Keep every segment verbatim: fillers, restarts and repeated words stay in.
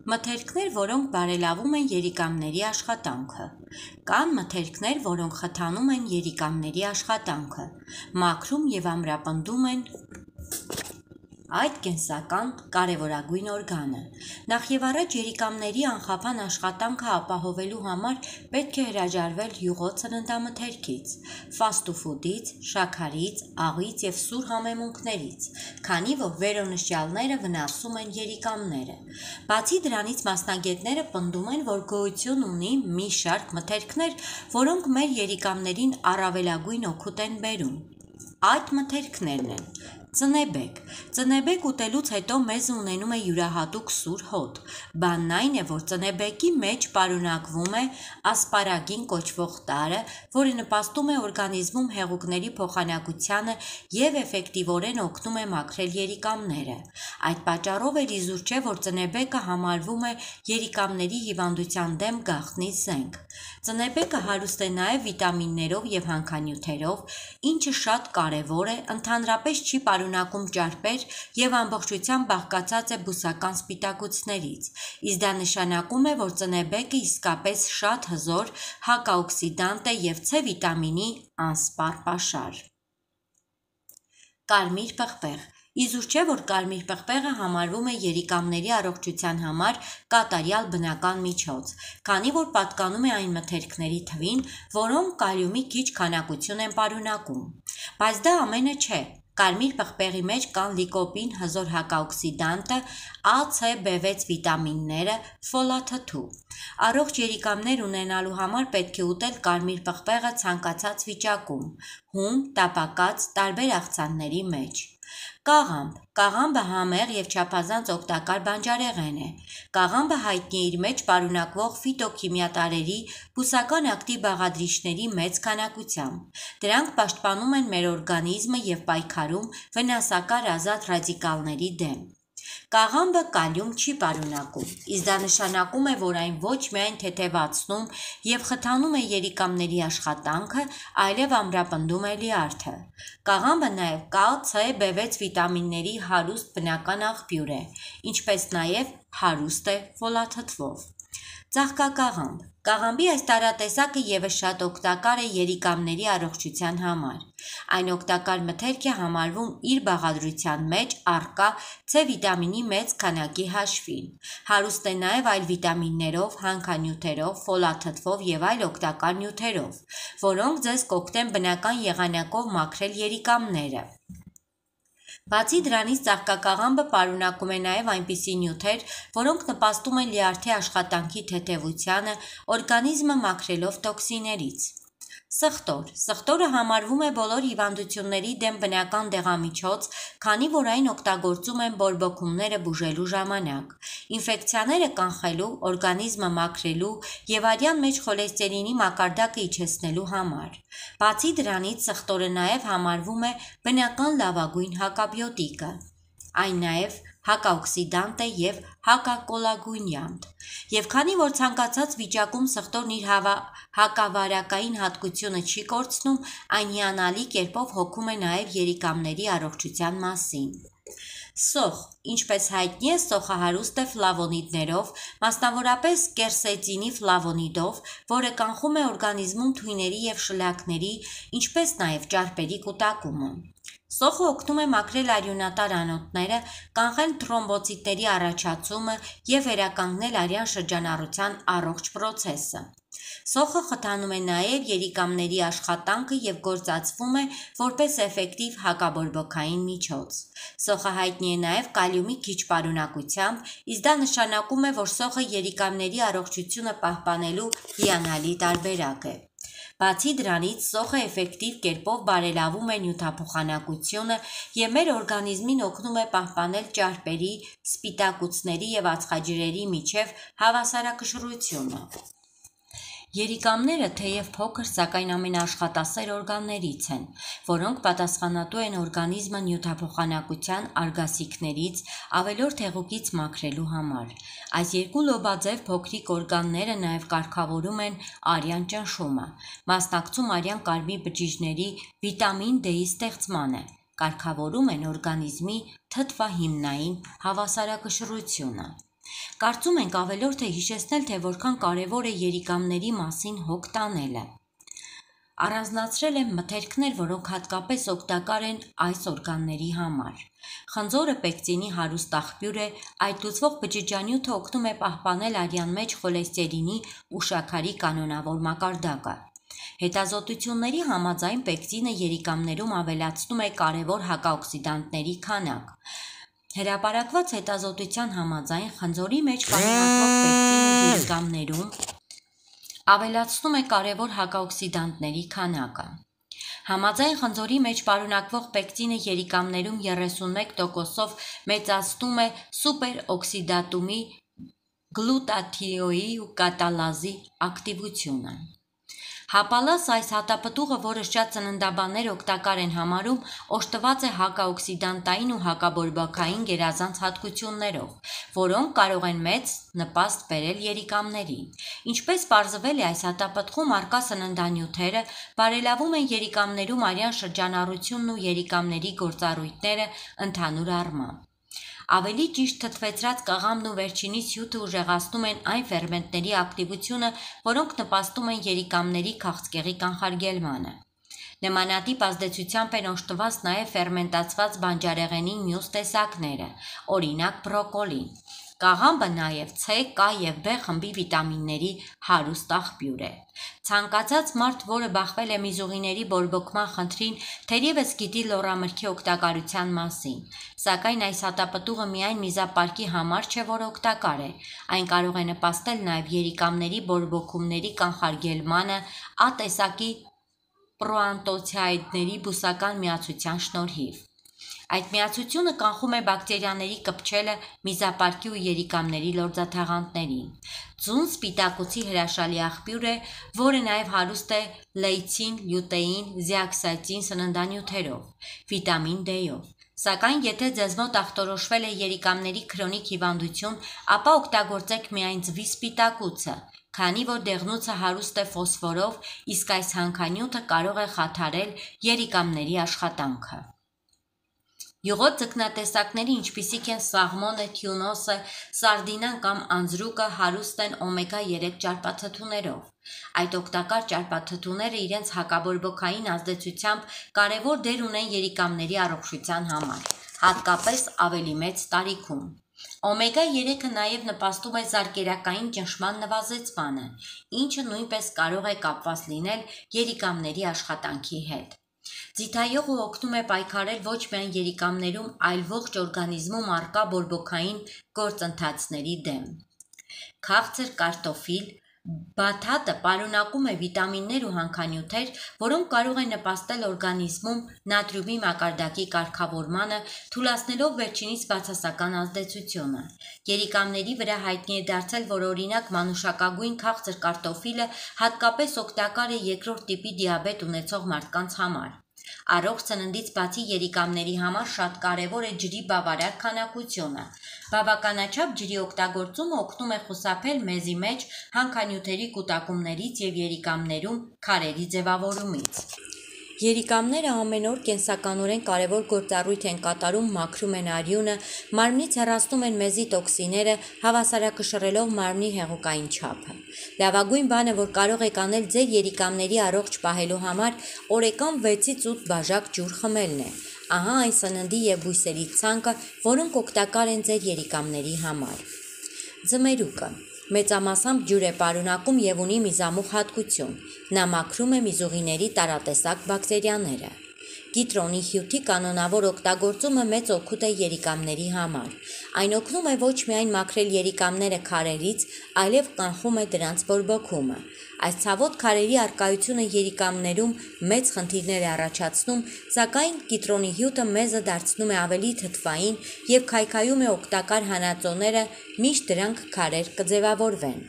Մթերքներ, որոնք բարելավում են երիկամների աշխատանքը։ Կան մթերքներ, որոնք խթանում են երիկամների աշխատանքը, մաքրում և ամրապնդում են այդ կենսական կարևորագույն օրգանը։ Նախևառաջ երիկամների անխափան աշխատանքը ապահովելու համար պետք է հրաժարվել յուղոտ սննդամթերքից, ֆաստուֆուդից, շաքարից, աղից և սուր համեմունքներից, քանի որ վերոնշյալները վնասում են երիկամները։ Բացի դրանից, մասնագետները պնդում են, որ գոյություն ունի մի շարք մթերքներ, որոնք մեր երիկամներին առավելագույն օգուտ են բերում։ Այդ մթերքներն են. Ծնեբեկ։ Ծնեբեկ ուտելուց հետո մեզ ունենում է յուրահատուկ սուր հոտ։ Բանն այն է, որ ծնեբեկի մեջ պարունակվում է ասպարագին կոչվող տարրը, որը նպաստում է օրգանիզմում հեղուկների փոխանակությանը և էֆեկտիվորեն օգնում է մաքրել երիկամները։ Այդ պատճառով էլ իզուր չէ, որ ծնեբեկը համարվում է երիկամների հիվանդության դեմ գաղտնի զենք։ Ծնեբեկը հարուստ է նաև վիտամիններով և հանքանյութերով, ինչը շատ կարևոր է, ընդհանրապես չի պարունակում ճարպեր և ամբողջությամբ բաղկացած է բուսական սպիտակուցներից, իսկ դա նշանակում է, որ ծնեբեկը իսկապես շատ հզոր հակաօքսիդանտ է և C վիտամինի անսպառ պաշար։ Կարմիր պղպեղ։ Իզուր չէ, որ կարմիր պղպեղը համարվում է երիկամների առողջության համար կատարյալ բնական միջոց, քանի որ պատկանում է այն մթերքների թվին, որոնք կալիումի քիչ քանակություն են պարունակում։ Բայց դա ամենը չէ։ Կարմիր պղպեղի մեջ կան լիկոպին, հզոր հակաօքսիդանտը, A, C, B վեց վիտամինները, ֆոլաթթու։ Առողջ երիկամներ ունենալու համար պետք է ուտել կարմիր պղպեղը ցանկացած վիճակում՝ հում, տապակած, տարբեր աղցանների մեջ։ Կաղամբ։ Կաղամբը համեղ և չափազանց օգտակար բանջարեղեն է։ Կաղամբը հայտնի է իր մեջ պարունակվող ֆիտոքիմիատարրերի, բուսական ակտիվ բաղադրիչների մեծ քանակությամբ։ Դրանք պաշտպանում են մեր օրգանիզմը և պայքարում վնասակար ազատ ռադիկալների դեմ։ Կաղամբը կալիում չի պարունակում, իսկ դա նշանակում է, որ այն ոչ միայն թեթևացնում և խթանում է երիկամների աշխատանքը, այլև ամրապնդում է լյարդը։ Կաղամբը նաև K, C, B վեց վիտամինների հարուստ բնական աղբյուր է, ինչպես նաև հարուստ է ֆոլաթթվով։ Ծաղկակաղամբ։ Կաղամբի այս տարատեսակը ևս շատ օգտակար է երիկամների առողջության համար։ Այն օգտակար մթերք է համարվում իր բաղադրության մեջ առկա C վիտամինի մեծ քանակի հաշվին։ Հարուստ է նաև այլ վիտամիններով, հանքանյութերով, ֆոլաթթվով և այլ օգտակար նյութերով, որոնք ձեզ կօգնեն բնական եղանակով մաքրել երիկամները։ Բացի դրանից, ծաղկակաղամբը պարունակում է նաև այնպիսի նյութեր, որոնք նպաստում են լյարդի աշխատանքի թեթևությանը, օրգանիզմը մաքրելով տոքսիններից։ Սխտոր։ Սխտորը համարվում է բոլոր հիվանդությունների դեմ բնական դեղամիջոց, քանի որ այն օգտագործում են բորբոքումները բուժելու ժամանակ, ինֆեկցիաները կանխելու, օրգանիզմը մաքրելու և արյան մեջ խոլեստերինի մակարդակը իջեցնելու համար։ Բացի դրանից, սխտորը նաև համարվում է բնական լավագույն հակաբիոտիկը։ Այն նաև հակաօքսիդանտ է և հակակոլագունյանտ։ Եվ քանի որ ցանկացած վիճակում սխտորն իր հակավարակային հատկությունը չի կորցնում, այն հիանալի կերպով հոգում է նաև երիկամների առողջության մասին։ Սոխ։ Ինչպես հայտնի է, սոխը հարուստ է ֆլավոնիդներով, մասնավորապես կերսետինի ֆլավոնիդով, որը կանխում է օրգանիզմում թույների և շլակների, ինչպես նաև ճարպերի կուտակումը։ Սոխը օգնում է մաքրել արյունատար անոթները, կանխել թրոմբոցիտների առաջացումը և վերականգնել արյան շրջանառության առողջ պրոցեսը։ Սոխը խթանում է նաև երիկամների աշխատանքը և գործածվում է որպես էֆեկտիվ հակաբորբոքային միջոց։ Սոխը հայտնի է նաև կալիումի քիչ պարունակությամբ, իսկ դա նշանակում է, որ սոխը երիկամների առողջությունը պահպանելու հիանալի տարբերակ է։ Բացի դրանից, սոխը էֆեկտիվ կերպով բարելավում է նյութափոխանակությունը և մեր օրգանիզմին օգնում է պահպանել ճարպերի, սպիտակուցների և ածխաջրերի միջև հավասարակշռությունը։ Երիկամները թեև փոքր, սակայն ամենաաշխատասեր օրգաններից են, որոնք պատասխանատու են օրգանիզմը նյութափոխանակության արգասիքներից, ավելորդ հեղուկից մաքրելու համար։ Այս երկու լոբաձև փոքրիկ օրգանները նաև կարգավորում են արյան ճնշումը, մասնակցում արյան կարմիր բջիջների վիտամին D-ի ստեղծմանը, կարգավորում են օրգանիզմի թթվահիմնային հավասարակշռությունը։ Կարծում ենք ավելորդ է հիշեցնել, թե որքան կարևոր է երիկամների մասին հոգ տանելը։ Առանձնացրել են մթերքներ, որոնք հատկապես օգտակար են այս օրգանների համար։ Խնձորը պեկտինի հարուստ աղբյուր է, այդ լուծվող բջիջանյութը օգնում է պահպանել արյան մեջ խոլեստերինի ու շաքարի կանոնավոր մակարդակը։ Հետազոտությունների համաձայն պեկտինը երիկամներում ավելացնում է կարևոր հակաօքսիդանտների քանակ։ Հրապարակված հետազոտության համաձայն խնձորի մեջ պարունակվող պեկտինը երիկամներում ավելացնում է կարևոր հակաօքսիդանտների քանակը։ Համաձայն խնձորի մեջ պարունակվող պեկտինը երիկամներում երեսունմեկ տոկոսով մեծացնում է սուպերօքսիդատումի գլուտաթիոի ու կատալազի ակտիվությունը։ Հապալաս այս հատապտուղը, որը շատ ծննդաբաններ օգտակար են համարում, օժտված է հակաօքսիդանտային ու հակաբորբոքային գերազանց հատկություններով, որոնք կարող են մեծ նպաստ բերել երիկամներին։ Ինչպես պարզվել է, այս հատապտղում առկա սննդանյութերը բարելավում են երիկամներում արյան շրջանառությունն ու երիկամների գործառույթները ընդհանուր առմամբ։ Ավելի ճիշտ թթվեցրած կաղամն ու վերջինիս հյութը ուժեղացնում են այն ֆերմենտների ակտիվությունը, որոնք նպաստում են երիկամների քաղցկեղի կանխարգելմանը։ Նմանատիպ ազդեցությամբ են օժտված նաև ֆերմենտացված բանջարեղենի մյուս տեսակները, օրինակ բրոկոլին։ Կաղամբը նաև C, K և B խմբի վիտամինների հարուստ աղբյուր է։ Ցանկացած մարդ, որը բախվել է միզուղիների բորբոքման խնդրին, թերևս գիտի լոռամրգի օգտակարության մասին, սակայն այս հատապտուղը միայն միզապարկի համար չէ, որ օգտակար է, այն կարող է նպաստել նաև երիկամների բորբոքումների կանխարգելմանը A տեսակի պրոանտոցիդների բուսական միացության շնորհիվ։ Այդ միացությունը կանխում է բակտերիաների կպչելը միզապարկի ու երիկամների լորձաթաղանթներին։ Ձուն սպիտակուցի հրաշալի աղբյուր է, որը նաև հարուստ է լեյցին, լյուտեին, զեաքսանթին սննդանյութերով, վիտամին D-ով։ Սակայն եթե ձեզ մոտ ախտորոշվել է երիկամների քրոնիկ հիվանդություն, ապա օգտագործեք միայն ձվի սպիտակուցը, քանի որ դեղնուցը հարուստ է ֆոսֆորով, իսկ այս հանքանյութը կարող է խաթարել երիկամների աշխատանքը։ Յուղոտ ձկնատեսակների, ինչպիսիք են սաղմոնը, թյունոսը, սարդինան կամ անձրուկը, հարուստ են օմեգա երեք ճարպաթթուներով։ Այդ օգտակար ճարպաթթուները իրենց հակաբորբոքային ազդեցությամբ կարևոր դեր ունեն երիկամների առողջության համար, հատկապես ավելի մեծ տարիքում։ Օմեգա երեքը նաև նպաստում է զարկերակային ճնշման նվազեցմանը, ինչը նույնպես կարող է կապված լինել երիկամների աշխատանքի հետ։ Ձիթայուղը օգնում է պայքարել ոչ միայն երիկամներում, այլ ողջ օրգանիզմում առկա բորբոքային գործընթացների դեմ։ Քաղցր կարտոֆիլ բաթաթը պարունակում է վիտամիններ ու հանքանյութեր, որոնք կարող են նպաստել օրգանիզմում նատրիումի մակարդակի կարգավորմանը, թուլացնելով վերջինիս բացասական ազդեցությունը։ Երիկամների վրա հայտնի է դարձել, որ օրինակ մանուշակագույն քաղցր կարտոֆիլը հատկապես օգտակար է երկրորդ տիպի դիաբետ ունեցող մարդկանց համար։ Առողջ սննդից բացի երիկամների համար շատ կարևոր է ջրի բավարար քանակությունը։ Բավականաչափ ջրի օգտագործումը օգնում է խուսափել մեզի մեջ հանքանյութերի կուտակումներից և երիկամներում քարերի ձևավորումից։ Երիկամները ամեն օր կենսականորեն կարևոր գործառույթ են կատարում, մաքրում են արյունը, մարմնից հեռացնում են մեզի տոքսինները, հավասարակշռելով մարմնի հեղուկային չափը։ Լավագույն բանը, որ կարող եք անել ձեր երիկամների առողջ պահելու համար, օրեկան վեցից ութ բաժակ ջուր խմելն է։ Ահա այն սննդի և բույսերի ցանկը, որոնք օգտակար են ձեր երիկամների համար։ Ձմերուկը մեծամասամբ ջուր է պարունակում և ունի միզամուղ հատկություն։ Նա մաքրում է միզուղիների տարատեսակ բակտերիաները։ Կիտրոնի հյութի կանոնավոր օգտագործումը մեծ օգուտ է երիկամների համար։ Այն օգնում է ոչ միայն մաքրել երիկամները քարերից, այլև կանխում է դրանց բորբոքումը։ Այս ցավոտ քարերի առկայությունը երիկամներում մեծ խնդիրներ է առաջացնում, սակայն կիտրոնի հյութը մեզը դարձնում է ավելի թթվային և քայքայում է օգտակար հանածոները, մինչ դրանք քարեր կձևավորվեն։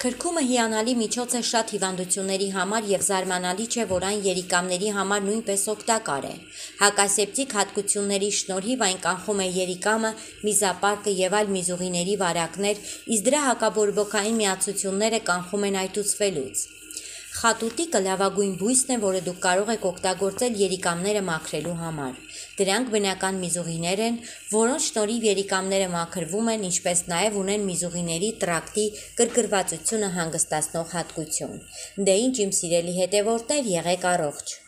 Քրքումը հիանալի միջոց է շատ հիվանդությունների համար և զարմանալի չէ, որ այն երիկամների համար նույնպես օգտակար է։ Հակասեպտիկ հատկությունների շնորհիվ այն կանխում է երիկամը, միզապարկը և այլ միզուղիների վարակներ, իսկ դրա հակաբորբոքային միացությունները կանխում են այտուցվելուց։ Խատուտիկը լավագույն բույսն է, որը դուք կարող եք օգտագործել երիկամները մաքրելու համար։ Դրանք բնական միզուղիներ են, որոնց շնորհիվ երիկամները մաքրվում են, ինչպես նաև ունեն միզուղիների տրակտի գրգռվածությունը հանգստացնող հատկություն։ Դե ինչ իմ սիրելի հետևորդներ, եղեք առողջ։